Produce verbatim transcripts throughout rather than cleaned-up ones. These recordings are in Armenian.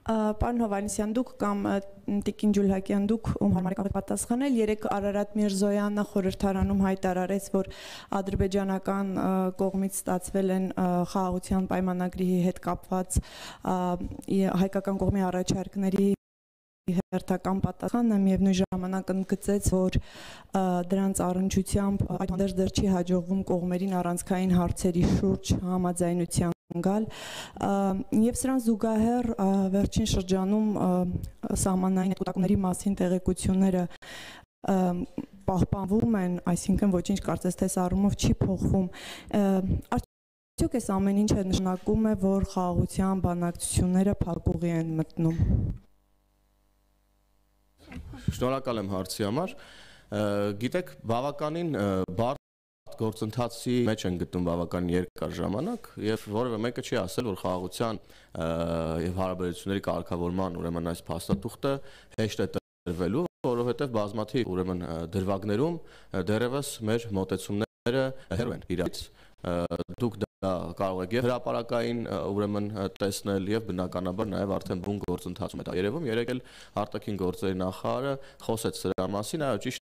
Պարոն Հովհաննիսյան, դուք կամ Տիկին Ջուլհակյան, դուք ում համար եք պատասխանել, երեք Արարատ Միրզոյանը խորհրդարանում հայտարարեց, որ ադրբեջանական կողմից ստացվել են խաղաղության պայմանագրի հետ կապված հայկական կողմի առաջարկների հերթական պատասխանը, միևնույն ժամանակ ընդգծեց, որ դրանց առնչությամբ այդտեղ դեռ չի հաջողվում կողմերին առանցքային հարցերի շուրջ համաձայնության գալ, եւ սրան զուգահեռ վերջին շրջանում սահմանային կուտակումների մասին տեղեկությունները պահպանվում են, այսինքն ոչինչ կարծես թե առումով չի փոխվում։ Արդյոք այս ամեն ինչը նշանակում է, որ խաղաղության բանակցությունները փակուղի են մտնում։ Շնորհակալ եմ հարցի համար։ Գիտեք, բավականին բարդ գործընթացի մեջ են գտնում բավականին երկար ժամանակ եւ որևէ մեկը չի ասել, որ խաղաղության եւ հարաբերությունների կարգավորման ուրեմն այս փաստաթուղթը հեշտ է տրվելու, որովհետեւ բազմաթիվ ուրեմն դրվագներում դեռևս մեր մոտեցումները հեռու են իրարից։ Դուք դա կարող եք եւ հրապարակային ուրեմն տեսնել եւ բնականաբար նաեւ արդեն բուն գործընթացում է դա երևում։ Երեք էլ արտաքին գործերի նախարարը խոսեց սրա մասին, այո, ճիշտ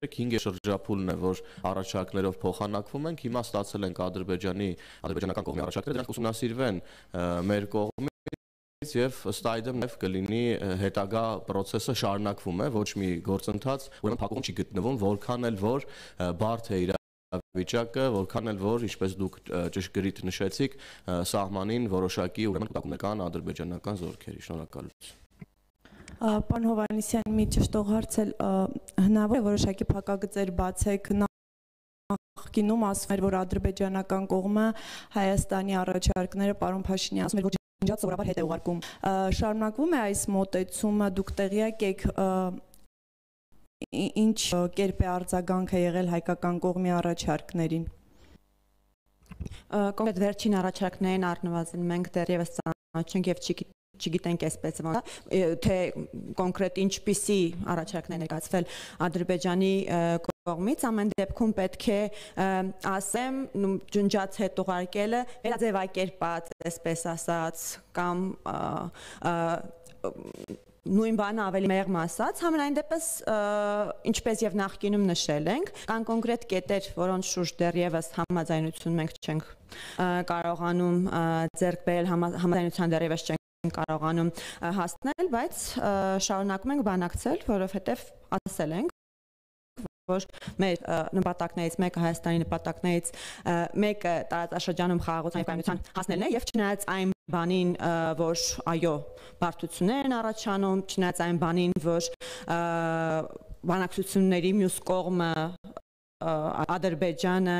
է, հինգ շրջափուլն է, որ առաջարկներով փոխանակվում ենք, հիմա ստացել ենք Ադրբեջանի ադրբեջանական կողմի առաջարկները, դրանք ուսումնասիրվեն մեր կողմից եւ ըստ այդմ նաեւ կլինի հետագա process-ը շարունակվում է, ոչ մի գործընթաց ուրեմն փակում չի գտնվում, որքան էլ որ բարդ է իր վիճակը, որքան էլ որ, ինչպես դուք ճշգրիտ նշեցիք, սահմանին որոշակի ուրեմն կուտակումներ ադրբեջանական զորքերի։ Շնորհակալություն։ Պարոն Հովհաննիսյան, մի ճշտող հարց էլ հնարավոր է որոշակի փակագծեր բացեք, նախկինում ասվում էր, որ ադրբեջանական կողմը Հայաստանի առաջարկները պարոն Փաշինյանը ասում էր, որ ջնջած սովորաբար հետ է ուղարկում։ Շարունակվում է այս մոտեցումը, դուք տեղյակ եք ինչ կերպ է արձագանքը եղել հայկական կողմի առաջարկներին։ Կոնկրետ վերջին առաջարկներին առնվազն մենք դեռևս ծանոթ չենք եւ չգիտենք այսպես թե կոնկրետ ինչպիսի առաջարկներ ներկայացվել Ադրբեջանի կողմից, ամեն դեպքում պետք է ասեմ, ջնջած հետ ուղարկելը վերաձևակերպած, այսպես ասած, կամ նույն բանը ավելի մեղմ ասած, համենայն դեպս ինչպես եւ նախկինում նշել ենք, կան կոնկրետ կետեր, որոնց շուրջ դեռևս համաձայնություն մենք չենք կարողանում ձեռք բերել, համաձայնության դեռևս չենք կարողանում հասնել, բայց շարունակում ենք բանակցել, որովհետեւ ասել ենք, որ մեր նպատակներից մեկը Հայաստանի նպատակներից մեկը տարածաշրջանում խաղաղության եւ կայունության հասնելն է եւ չնայած այն բանին, որ այո, բարդություններ են առաջանում, չնայած այն բանին, որ բանակցությունների մյուս կողմը Ադրբեջանը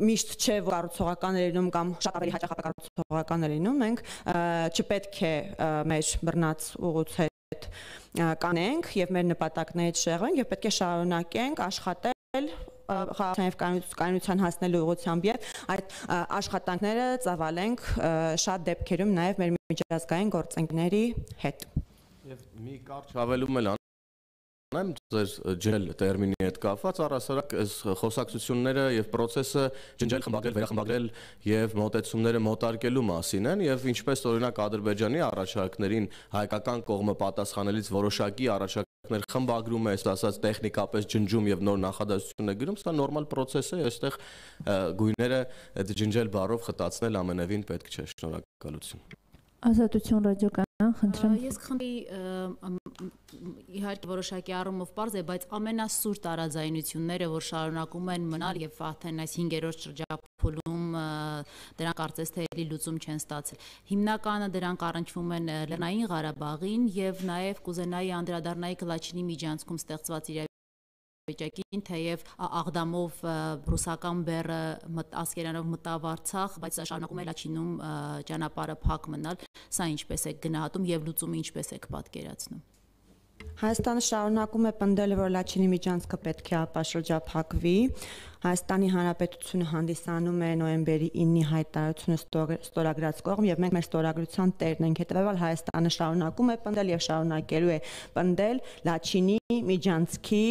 միշտ չէ, որ կառուցողական է լինում կամ շատ ավելի հաճախ կառուցողական է լինում, մենք չպետք է մեր բռնած ուղուց հետ կանենք եւ մեր նպատակներից շեղվենք եւ պետք է շարունակենք աշխատել խաղաղության եւ կայունության հասնելու ուղղությամբ եւ այդ աշխատանքները ծավալենք շատ դեպքերում նաեւ մեր միջազգային գործընկերների հետ։ Եվ մի կարճ հավելում էլ Եմ ձեր ջել տերմինի հետ կապված առասարակ այս խոսակցությունները եւ process-ը ջնջել, խմբագրել, վերախմբագրել եւ մոտեցումները մոտարկելու մասին են եւ ինչպես օրինակ Ադրբեջանի առաջարկներին հայկական կողմը պատասխանելից որոշակի առաջարկներ խմբագրում է, ասած տեխնիկապես ջնջում եւ նոր նախադասություն է գրում, սա նորմալ process է, այստեղ գույները այդ ջնջել բառով խտացնել ամենևին պետք չէ։ Շնորհակալություն։ Ազատություն ռադիոկայան, խնդրեմ։ Ես խնդրի իհարկե որոշակի առումով պարզ է, բայց ամենասուր տարաձայնությունները, որ շարունակում են մնալ եւ արդեն այս հինգերորդ շրջափուլում դրանք կարծես թե էլի լուծում չեն ստացել։ Հիմնականը դրանք առնչվում են Լեռնային Ղարաբաղին եւ նաեւ կուզենայի անդրադառնայի Կլաչինի միջանցքում ստեղծված վիճակին, թեև Աղդամով ռուսական բեռը ասկերանով մտավ Արցախ, բայց շարունակում է Լաչինում ճանապարհը փակ մնալ, սա ինչպես է գնահատում եւ լուծումը ինչպես է պատկերացնում։ Հայաստանը շարունակում է պնդել, որ Լաչինի միջանցքը պետք է ապաշրջափակվի։ Հայաստանի Հանրապետությունը հանդիսանում է նոյեմբերի իննի հայտարարությունը ստորագրած կողմ եւ մենք մեր ստորագրության տերն ենք, հետեւաբար Հայաստանը շարունակում է պնդել եւ շարունակելու է պնդել Լաչինի միջանցքի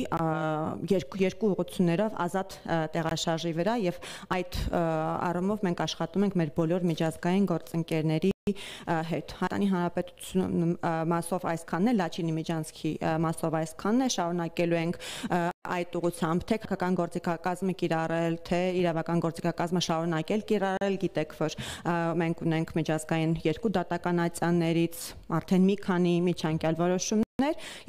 երկու երկու ուղղություններով ազատ տեղաշարժի վրա եւ այդ առումով մենք աշխատում ենք մեր բոլոր միջազգային գործընկերների հետ։ Հայաստանի Հանրապետությունը մասով այսքանն է, Լաչինի Միջանցքի մասով այսքանն է, շարունակելու ենք այդ ուղղությամբ թե քաղաքական գործիքակազմը կիրառել, թե իրավական գործիքակազմը շարունակել կիրառել, գիտեք, որ մենք ունենք միջազգային երկու դատականացիաներից արդեն մի քանի միջանկյալ որոշումներ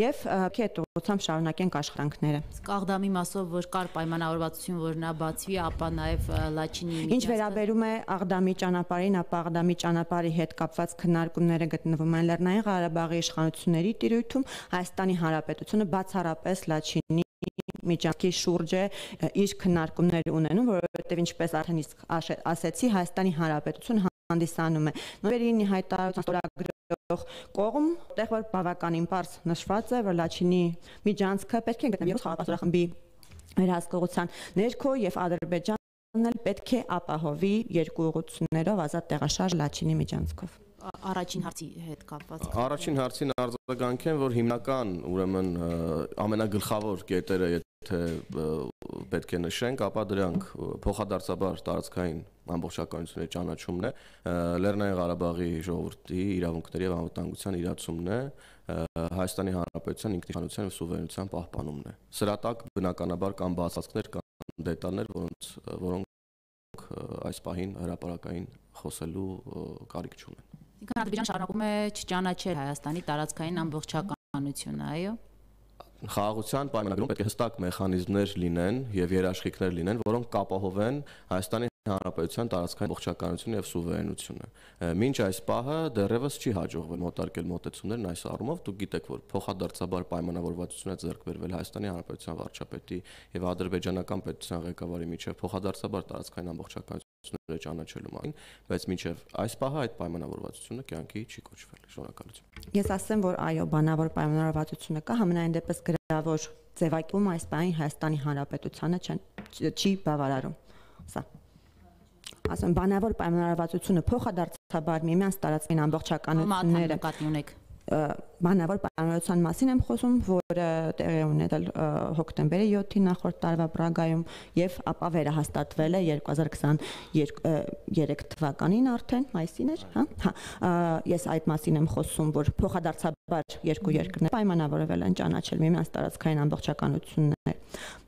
եւ այդ ուղղությամբ շարունակենք աշխատանքները։ Աղդամի մասով որ կար պայմանավորվածություն, որ նա բացվի, ապա նաեւ Լաչինի Ինչ վերաբերում է Աղդամի ճանապարհին, ապա Աղդամի ճանապարհի հետ կապված քննարկումները գտնվում են Լեռնային Ղարաբաղի իշխանությունների տիրույթում, Հայաստանի Հանրապետությունը բացառապես Լաչինի միջանցքի շուրջ է իր քննարկումները ունենում, որովհետև ինչպես արդեն իսկ ասեցի, Հայաստանի Հանրապետությունը հանդիսանում է նորերին հայտարարության ստորագրող կողմ, որտեղ որ բավականին պարզ նշված է, որ Լաչինի միջանցքը պետք է գտնվի խաղաղապահորախմբի վերահսկողության ներքո եւ Ադրբեջանն էլ պետք է ապահովի երկու ուղղություններով ազատ տեղաշարժ Լաչինի միջանցքով։ Առաջին հարցի հետ կապված։ Առաջին հարցին արձագանքեմ, որ հիմնական, ուրեմն ամենագլխավոր կետերը, եթե պետք է նշենք, ապա դրանք փոխադարձաբար տարածքային ամբողջականությունների ճանաչումն է, Լեռնային Ղարաբաղի ժողովրդի իրավունքների եւ անվտանգության իրացումն է, Հայաստանի Հանրապետության ինքնիշխանության եւ սուվերենության պահպանումն է։ Սրա տակ բնականաբար կան բացվածքներ, կան դետալներ, որոնց որոնք այս պահին հրապարակային խոսելու կարիք չունեն։ Ինքն Ադրբեջանը շարունակում է չճանաչել Հայաստանի տարածքային ամբողջականությունը, այո։ Խաղաղության պայմանագրում պետք է հստակ մեխանիզմներ լինեն եւ երաշխիքներ լինեն, որոնք կապահովեն Հայաստանի Հանրապետության տարածքային ամբողջականությունը եւ սուվերենությունը։ Մինչ այս պահը դեռևս չի հաջողվել մոտարկել մոտեցումներն այս առումով, դուք գիտեք, որ փոխադարձաբար պայմանավորվածություն է ձեռք բերվել Հայաստանի Հանրապետության վարչապետի եւ ադրբեջանական պետության ղեկավարի միջեւ փոխադարձաբար տարածքային ամբողջականությունը ճանաչելու մասին, բայց մինչեւ այս պահը այդ պայմանավորվածությունը կյանքի չի կոչվել։ Շնորհակալություն։ Ես ասեմ, որ այո, բանավոր պայմանավորվածությունը կա, համենայն դեպս գրավոր ձևակերպում այս պահին Հայաստանի Հանրապետությանը չի բավարարում։ Սա ասեմ, բանավոր պայմանավորվածությունը փոխադարձաբար միմյանց տարածքային ամբողջականությունները նկատի ունեք։ Բանավոր պայմանավորվածության մասին եմ խոսում, որը տեղի ունեցել հոկտեմբերի յոթին նախորդ տարվա Պրագայում եւ ապա վերահաստատվել է երկու հազար քսաներեք թվականին արդեն, մայիսին էր, հա։ Հա, ես այդ մասին եմ խոսում, որ փոխադարձաբար երկու երկրները պայմանավորվել են ճանաչել միմյանց տարածքային ամբողջականություններ։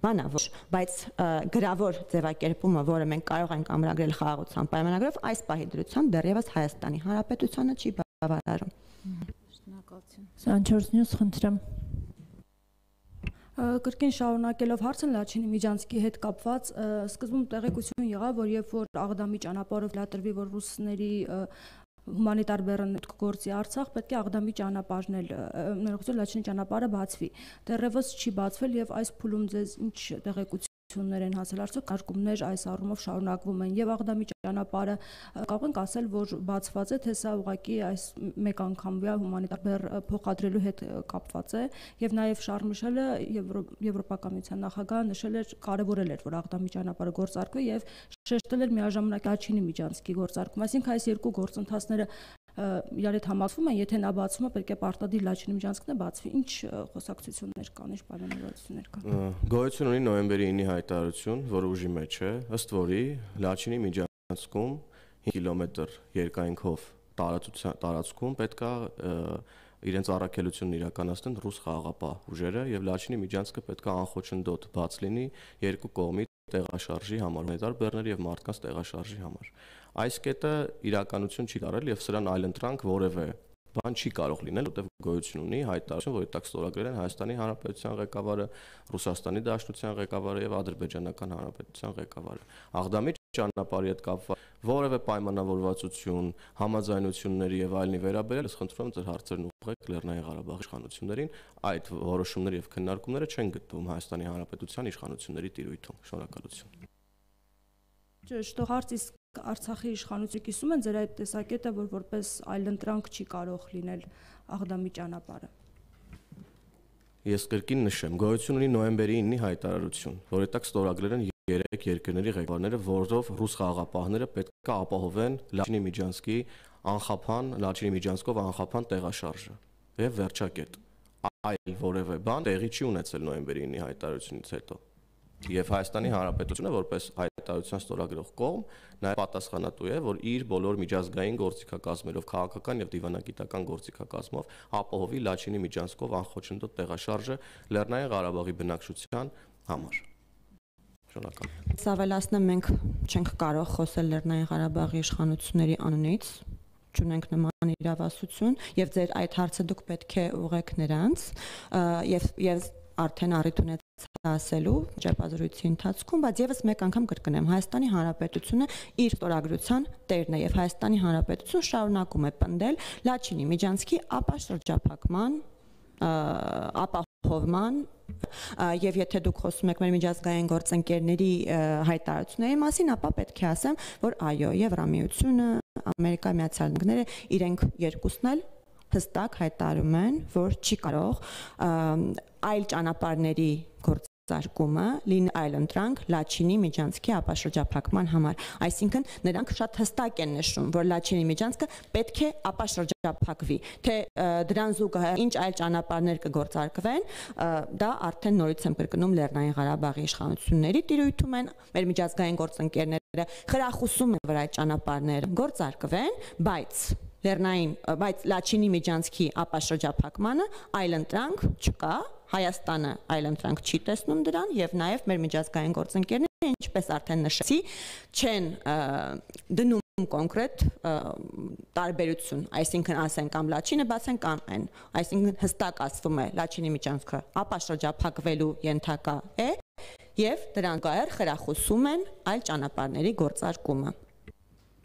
Բանավոր, բայց գրավոր ձևակերպումը, որը մենք կարող ենք ամրագրել խաղաղության պայմանագրով, այս պահի դրությամբ դեռևս Հայաստանի Հանրապետությանը չի բավարարում։ Սանչորս Նյուս խնդրեմ։ Կրկին շարունակելով հարցը Լաչինի միջանցքի հետ կապված, սկզբում տեղեկություն եղավ, որ երբ որ Աղդամի ճանապարհով լատրվի, որ ռուսների հումանիտար բեռն գործի Արցախ, պետք է Աղդամի ճանապարհն էլ ներողություն Լաչինի ճանապարհը բացվի։ Դեռևս չի բացվել եւ այս փուլում ձեզ ինչ տեղեկություններ են հասել, արդյոք արկումներ այս առումով շարունակվում են եւ Աղդամի ճանապարհը կարող ենք ասել, որ բացված է, թե սա ուղղակի այս մեկ անգամվա հումանիտար բեռ փոխադրելու հետ կապված է եւ նաեւ Շարլ Միշելը Եվրոպական միության նախագահը նշել էր, կարեւորել էր, որ Աղդամի ճանապարհը գործարկվի եւ շեշտել էր միաժամանակ Լաչինի միջանցքի գործարկում, այսինքն այս երկու գործընթացները իրար հետ համակցվում են, եթե նա բացվում է, պետք է պարտադիր Լաչինի միջանցքն է բացվի, ինչ խոսակցություններ կան, ինչ պայմանավորվածություններ կան։ Գոյություն ունի նոյեմբերի ինի հայտարարություն, որը ուժի մեջ է, ըստ որի Լաչինի միջանցքում հինգ կիլոմետր երկայնքով տարածքում պետք է իրենց առաքելությունն իրականացնեն ռուս խաղաղապահ ուժերը եւ Լաչինի միջանցքը պետք է անխոչնդոտ բաց լինի երկու կողմի տեղաշարժի համար, հումանիտար բեռների եւ մարդկանց տեղաշարժի համար։ Այս կետը իրականություն չի դարել եւ սրան այլընտրանք որևէ բան չի կարող լինել, որտեղ գոյություն ունի հայտարարություն, որի տակ ստորագրել են Հայաստանի Հանրապետության ղեկավարը, Ռուսաստանի Դաշնության ղեկավարը եւ Ադրբեջանական Հանրապետության ղեկավարը։ Աղդամի ճանապարհի հետ կապված որևէ պայմանավորվածություն, համաձայնությունների եւ այլնի վերաբերյալ, ես խնդրում եմ ձեր հարցերն ուղղեք Լեռնային Ղարաբաղի իշխանություններին, այդ որոշումները եւ քննարկումները չեն գտնվում Հայաստանի Հանրապետության իշխանությունների տիրույթում։ Շնորհակալություն։ Ճիշտ, հարց իսկ Արցախի իշխանությունը կիսում են ձեր այդ տեսակետը, որ որպես այլընտրանք չի կարող լինել Աղդամի ճանապարհը։ Ես կրկին նշեմ, գոյություն ունի նոյեմբերի ինի հայտարարություն, որի տակ ստորագրել են երեք երկրների ղեկավարները, որով ռուս խաղաղապահները պետք է ապահովեն Լաչինի միջանցքի անխափան, Լաչինի միջանցքով անխափան տեղաշարժը եւ վերջակետ։ Այլ որևէ բան տեղի չի ունեցել նոյեմբերի ինի հայտարարությունից հետո։ Եվ Հայաստանի Հանրապետությունը որպես հայտարարության ստորագրող կողմ նաև պատասխանատու է, որ իր բոլոր միջազգային գործիքակազմերով, քաղաքական եւ դիվանագիտական գործիքակազմով ապահովի Լաչինի միջանցքով անխոչնդոտ տեղաշարժը Լեռնային Ղարաբաղի բնակչության համար։ Շնորհակալ։ Սավելացնեմ, մենք չենք կարող խոսել Լեռնային Ղարաբաղի իշխանությունների անունից, չունենք նման իրավասություն եւ ձեր այդ հարցը դուք պետք է ուղղեք նրանց եւ եւ արդեն առիթ ունեցա ասելու ճեպազրույցի ընթացքում, բայց եւս մեկ անգամ կրկնեմ, Հայաստանի Հանրապետությունը իր ստորագրության տերն է եւ Հայաստանի Հանրապետությունը շարունակում է պնդել Լաչինի միջանցքի ապաշրջափակման, ապահովման եւ եթե դուք խոսում եք մեր միջազգային գործընկերների հայտարարությունների մասին, ապա պետք է ասեմ, որ այո, Եվրամիությունը, Ամերիկայի Միացյալ Նահանգները իրենք երկուսն էլ հստակ հայտարարում են, որ չի կարող այլ ճանապարհների գործարկումը լինի այլ ընտրանք Լաչինի միջանցքի ապաշրջափակման համար։ Այսինքն նրանք շատ հստակ են նշում, որ Լաչինի միջանցքը պետք է ապաշրջափակվի, թե դրան զուգահեռ ինչ այլ ճանապարհներ կգործարկվեն, դա արդեն նորից եմ կրկնում Լեռնային Ղարաբաղի իշխանությունների տիրույթում են, մեր միջազգային գործընկերները խրախուսում են, որ այդ ճանապարհները գործարկվեն, բայց Լեռնային, բայց Լաչինի միջանցքի ապաշրջափակմանը այլ ընտրանք չկա, Հայաստանը այլ ընտրանք չի տեսնում դրան եւ նաեւ մեր միջազգային գործընկերները, ինչպես արդեն նշեցի, չեն դնում կոնկրետ տարբերություն, այսինքն ասեն կամ Լաչինը բացեն կամ այն, այսինքն հստակ ասվում է Լաչինի միջանցքը ապաշրջափակվելու ենթակա է եւ դրան գայր խրախուսում են այլ ճանապարհների գործարկումը։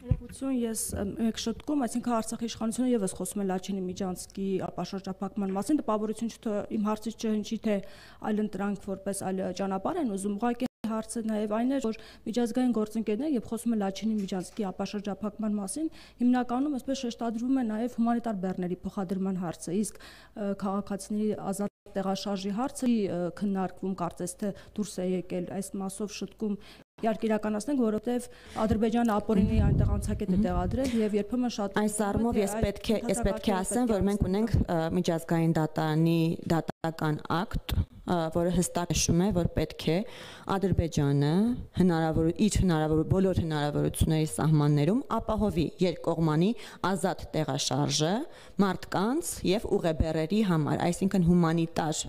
Ներողություն, ես մեկ շտկում, այսինքն Արցախի իշխանությունը եւս խոսում է Լաչինի միջանցքի ապաշրջափակման մասին, տպավորություն չէ, իմ հարցից չհնչի, թե այլ ընտրանք որպես այլ ճանապարհ են ուզում, ուղղակի հարցը նաև այն է, որ միջազգային գործընկերները երբ խոսում են Լաչինի միջանցքի ապաշրջափակման մասին, հիմնականում այսպես շեշտադրվում է նաև հումանիտար բեռների փոխադրման հարցը, իսկ քաղաքացիների ազատ տեղաշարժի հարցը քննարկվում, կարծես թե դուրս է եկել այս մասով շտկում իհարկե իրականացնենք, որովհետև Ադրբեջանը ապօրինի այնտեղ անցակետ է տեղադրել եւ երբեմն շատ այս առումով ես պետք է ես պետք է ասեմ, որ մենք ունենք միջազգային դատարանի դատական ակտ, որը հստակ նշում է, որ պետք է Ադրբեջանը հնարավոր իր հնարավոր բոլոր հնարավորությունների սահմաններում ապահովի երկկողմանի ազատ տեղաշարժը մարդկանց եւ ուղեբեռերի համար, այսինքն հումանիտար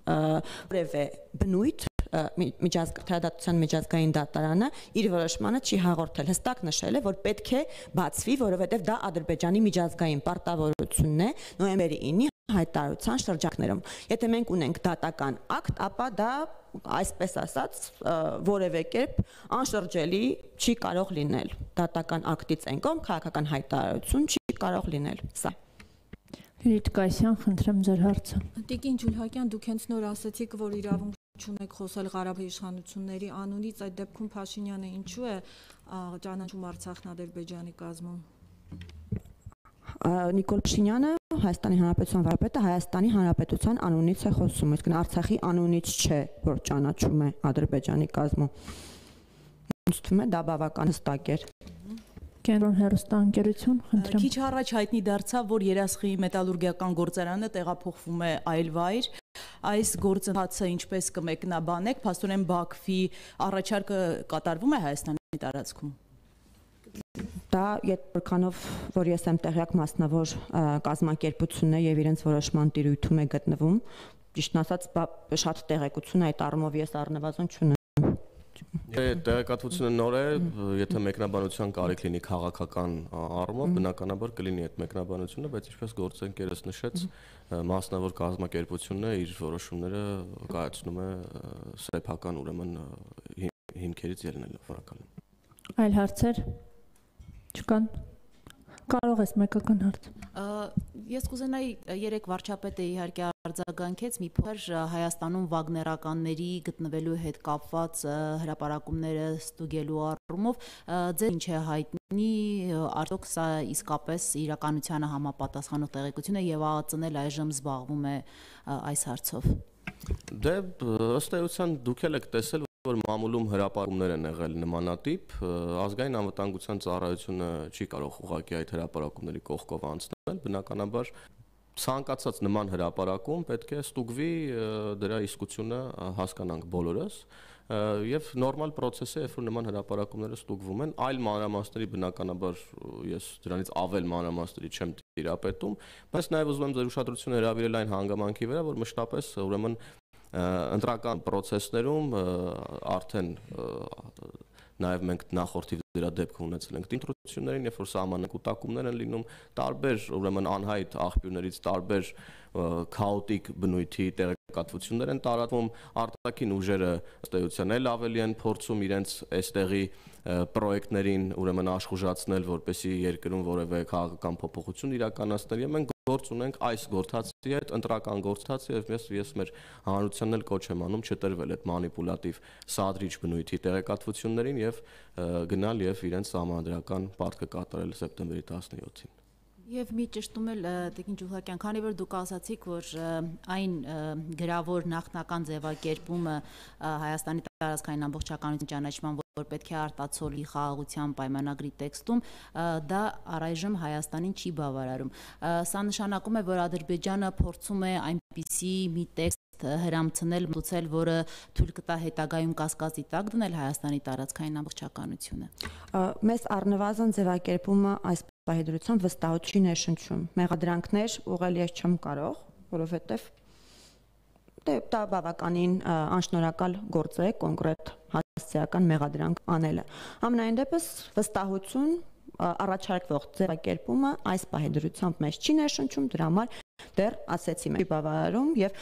որևէ բնույթ միջազգային միջազգային դատարանը իր որոշմանը չի հաղորդել, հստակ նշել է, որ պետք է բացվի, որովհետև դա Ադրբեջանի միջազգային պարտավորությունն է նոյեմբերի ինը հայտարարության շրջանակներում։ Եթե մենք ունենք դատական ակտ, ապա դա այսպես ասած որևէ կերպ անշրջելի չի կարող լինել։ Դատական ակտից են կողմ քաղաքական հայտարարություն չի կարող լինել։ Սա Լիլիթ Կայսյան, խնդրեմ ձեր հարցը։ Տիկին Ջուլհակյան, դուք հենց նոր ասացիք, որ իրավունք չունեք խոսել Ղարաբաղի իշխանությունների անունից, այդ դեպքում Փաշինյանը ինչու է ճանաչում Արցախն Ադրբեջանի կազմում։ Նիկոլ Փաշինյանը Հայաստանի Հանրապետության վարպետը Հայաստանի Հանրապետության անունից է խոսում, իսկ Արցախի անունից չէ, որ ճանաչում է Ադրբեջանի կազմում։ Ինձ թվում է դա բավական հստակ էր։ Կենտրոն հեռուստաընկերություն, խնդրեմ։ Քիչ առաջ հայտնի դարձավ, որ Երասխի մետալուրգիական գործարանը տեղափոխվում է այլ վայր։ Այս գործընթացը ինչպես կմեկնաբանեք, փաստորեն Բաքվի առաջարկը կատարվում է Հայաստանի տարածքում։ Դա որքանով որ ես եմ տեղյակ մասնավոր կազմակերպությունն է եւ իրենց որոշման տիրույթում է գտնվում, ճիշտն ասած շատ տեղեկություն այդ առումով ես առնվազն չունեմ։ Տեղեկատվությունը նոր է, եթե մեկնաբանության կարիք լինի քաղաքական առումով, բնականաբար կլինի այդ մեկնաբանությունը, բայց ինչպես գործընկերս նշեց, մասնավոր կազմակերպությունը իր որոշումները կայացնում է սեփական ուրեմն հիմքերից ելնելով, վարակալում։ Այլ հարցեր չկան։ Կարող ես մեկական հարց։ Ես կուզենայի երեք վարչապետը իհարկե արձագանքեց մի փոքր Հայաստանում վագներականների գտնվելու հետ կապված հրապարակումները ստուգելու առումով, ձեր ինչ է հայտնի, արդյոք սա իսկապես իրականությանը համապատասխանող տեղեկություն է եւ ԱԱԾ-ն էլ այժմ զբաղվում է այս հարցով։ Դե ըստ էության դուք եք տեսել, որ մամուլում հրապարակումներ են եղել նմանատիպ, ազգային անվտանգության ծառայությունը չի կարող ուղղակի այդ հրապարակումների կողքով անցնել, բնականաբար ցանկացած նման հրապարակում պետք է ստուգվի դրա իսկությունը հասկանանք բոլորս, եւ նորմալ process է, երբ որ նման հրապարակումները ստուգվում են, այլ մանրամասների բնականաբար ես դրանից ավել մանրամասների չեմ տիրապետում, բայց նաեւ ուզում եմ ձեր ուշադրությունը հրավիրել այն հանգամանքի վրա, որ մշտապես ուրեմն ընտրական process-ներում արդեն նաև մենք նախորդի դրա դեպքը ունեցել ենք դիմտրություններին, երբ որ սահմանային կուտակումներ են լինում, տարբեր ուրեմն անհայտ աղբյուրներից տարբեր քաոտիկ բնույթի տեղեկատվություններ են տարածվում, արտաքին ուժերը ըստ էության էլ ավելի են փորձում իրենց այստեղի պրոյեկտներին ուրեմն աշխուժացնել, որպեսզի երկրում որևէ քաղաքական փոփոխություն իրականացնել, եւ մենք գործ ունենք այս գործընթացի հետ, ընտրական գործընթացի, եւ ես ես մեր հանրությանն էլ կոչ եմ անում չտրվել այդ մանիպուլատիվ սադրիչ բնույթի տեղեկատվություններին եւ գնալ եւ իրենց համանդրական պարտքը կատարել սեպտեմբերի տասնյոթին։ Եվ մի ճշտում էլ Տիկին Ջուլհակյան, քանի որ դուք ասացիք, որ այն գրավոր նախնական ձևակերպումը Հայաստանի տարածքային ամբողջականության ճանաչման, որ պետք է արտացոլի խաղաղության պայմանագրի տեքստում, դա առայժմ Հայաստանին չի բավարարում։ Սա նշանակում է, որ Ադրբեջանը փորձում է այնպիսի մի տեքստ հրամցնել, մտուցել, որը թույլ կտա հետագայում կասկածի տակ դնել Հայաստանի տարածքային ամբողջականությունը։ Մեզ առնվազն ձևակերպումը այս պահի դրությամբ վստահություն չի ներշնչում։ Մեղադրանքներ ուղղել ես չեմ կարող, որովհետև դե դա բավականին անշնորհակալ գործ է կոնկրետ հասարակական մեղադրանք անելը։ Ամենայն դեպս վստահություն առաջարկվող ձևակերպումը այս պահի դրությամբ մեզ չի ներշնչում, դրա համար դեռ ասեցի մենք բավարարում եւ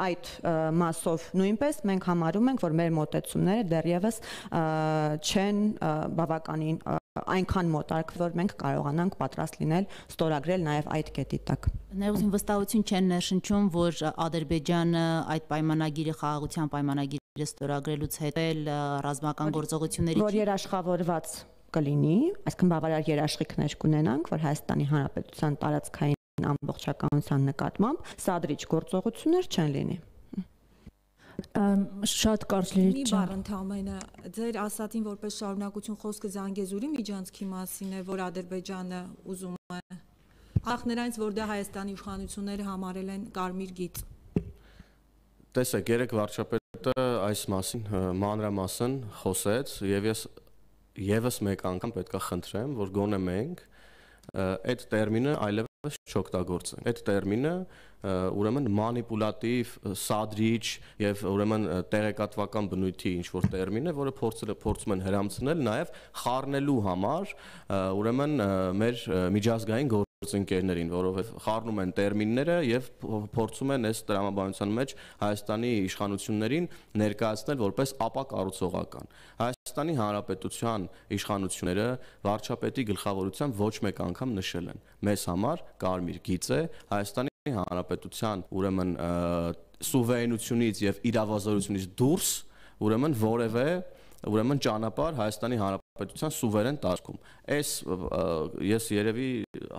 այդ մասով նույնպես մենք համարում ենք, որ մեր մոտեցումները դեռևս չեն բավականին այնքան մոտարկ, որ մենք կարողանանք պատրաստ լինել ստորագրել նաեւ այդ կետի տակ։ Ներողություն, վստահություն չեն ներշնչում, որ Ադրբեջանը այդ պայմանագիրը խաղաղության պայմանագիրը ստորագրելուց հետո ռազմական գործողությունների որ երաշխավորված կլինի, այսինքն բավարար երաշխիքներ կունենանք, որ Հայաստանի Հանրապետության տարածքային ամբողջականության նկատմամբ սադրիչ գործողություններ չեն լինի։ Շատ կարճ լրիվ մի բառ ընդհանրապես ձեր ասածին որպես շարունակություն խոսքը Զանգեզուրի միջանցքի մասին է, որ Ադրբեջանը ուզում է ախ նրանց, որ դա Հայաստանի իշխանությունները համարել են կարմիր գիծ։ Տեսեք, երեք վարչապետը այս մասին մանրամասն խոսեց եւ ես եւս մեկ անգամ պետքա խնդրեմ, որ գոնե մենք այդ տերմինը այլևս չօգտագործենք։ Այդ տերմինը ուրեմն մանիպուլատիվ, սադրիչ եւ ուրեմն տեղեկատվական բնույթի ինչ որ տերմին է, որը փորձել փորձում են հրամցնել նաեւ խառնելու համար ուրեմն մեր միջազգային գործընկերներին, որովհետեւ խառնում են տերմինները եւ փորձում են այս տրամաբանության մեջ Հայաստանի իշխանություններին ներկայացնել որպես ապակառուցողական։ Հայաստանի Հանրապետության իշխանությունները վարչապետի գլխավորությամբ ոչ մեկ անգամ նշել են. մեզ համար կարմիր գիծ է Հայաստանի Հանրապետության ուրեմն սուվերենությունից եւ իրավազորությունից դուրս ուրեմն որևէ ուրեմն ճանապարհ Հայաստանի Հանրապետության սուվերեն տարածքում։ Այս ես երևի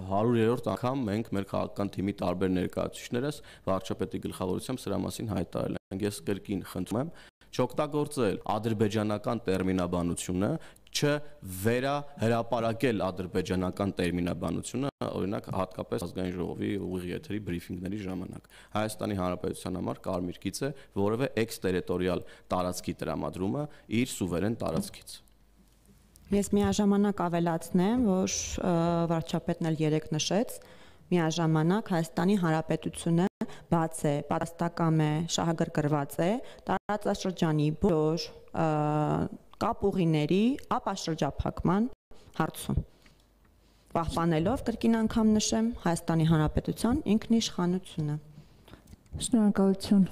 հարյուրերորդ անգամ մենք մեր քաղաքական թիմի տարբեր ներկայացուցիչներս վարչապետի գլխավորությամբ սրա մասին հայտարարել ենք։ Ես կրկին խնդրում եմ չօգտագործել ադրբեջանական տերմինաբանությունը, չվերահրապարակել ադրբեջանական տերմինաբանությունը, օրինակ հատկապես ազգային ժողովի ուղիղ եթերի բրիֆինգների ժամանակ։ Հայաստանի Հանրապետության համար կարմիր գիծ է որևէ էքստերիտորիալ տարածքի տրամադրումը իր սուվերեն տարածքից։ Ես միաժամանակ ավելացնեմ, որ վարչապետն էլ երեք նշեց, միաժամանակ Հայաստանի Հանրապետությունը բաց է, պատրաստակամ է, շահագրգռված է տարածաշրջանի բոլոր կապուղիների ապաշրջափակման հարցում։ Պահպանելով կրկին անգամ նշեմ Հայաստանի Հանրապետության ինքնիշխանությունը։ Շնորհակալություն։